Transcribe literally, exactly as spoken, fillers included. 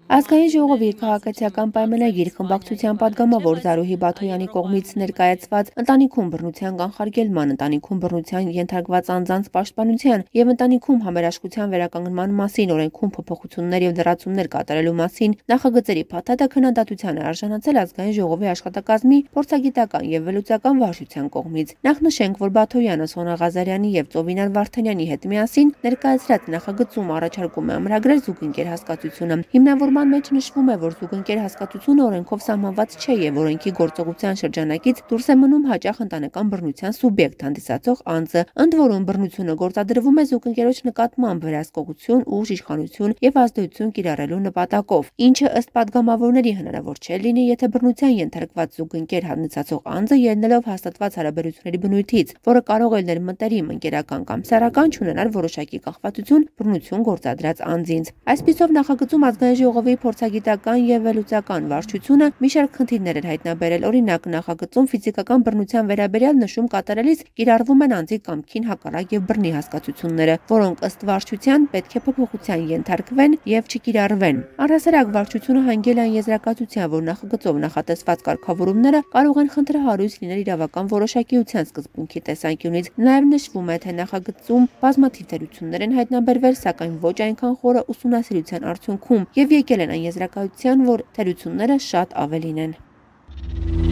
Ազգային ժողովի քաղաքացիական պայմանագիր խմբակցության պատգամավոր Զարուհի Բաթոյանի կողմից ներկայացված ընտանիքում բռնության կանխարգելման, ընտանիքում բռնության ենթարկված անձանց պաշտպանության և ընտանիքում համերաշխության վերականգնման մասին օրենքում փոփոխություններ և լրացումներ կատարելու մասին նախագծերի փաթաթը քննադատության է արժանացել Ազգային ժողովի աշխատակազմի փորձագիտական և վերլուծական վարչության կողմից։ Նախնշենք, որ Բաթոյանը Սոնա Ղազարյանի և Ծովինար Վարդանյանի հետ միասին ներկայացրած նախագծում առաջարկում է ամրագրել զուգընկեր հասկացությունը։ Հիմնավորման մեջ նշվում է, որ զուգընկեր հասկացությունը օրենքով սահմանված չէ և օրենքի գործողության շրջանակից դուրս է մնում հաճախ ընտանեկան բռնության սուբյեկտ հանդիսացող անձը, ընդ որում բռնությունը գործադրվում է զուգընկերոջ նկատմամբ վերահսկողություն, ուժ, իշխանություն և ազդեցություն կիրառելու նպատակով, ինչը ըստ պատգամավորների հնարավոր չէ լինի, եթե բռնության ենթարկված զուգընկեր հանդիսացող անձը ելնելով հաստատված հարաբերությունների բնույթից, որը կարող է լինել մտերիմ, ընկերական կամ սեռական, չունենար որոշակի կախվածություն բռնություն գործադրած անձինց։ Այսպիսով նախագծում Ազգային ժողովի փորձագիտական և վերլուծական վարչությունը մի շարք խնդիրներ էր հայտնաբերել։ Օրինակ, նախագծում ֆիզիկական բռնության վերաբերյալ նշում կատարելիս կիրառվում են անձի կամքին հակառակ և բռնի հասկացությունները, որոնք ըստ վարչության պետք է փոփոխության ենթարկվեն և չկիրառվեն։ Առհասարակ վարչությունը հանգել է այն եզրակացության, որ նախագծով նախատեսված կարգավորումները կարող են խնդրահարույց լինել իրավական որոշակիության սկզբունքի տեսանկյունից։ Նաև նշվում է, թե նախագծում բազմաթիվ թերություններ են հայտնաբերվել, սակայն ոչ այնքան խորը ուսումնասիրության արդյունքում, և եկել են այն եզրակացության, որ թերությունները շատ ավելին են։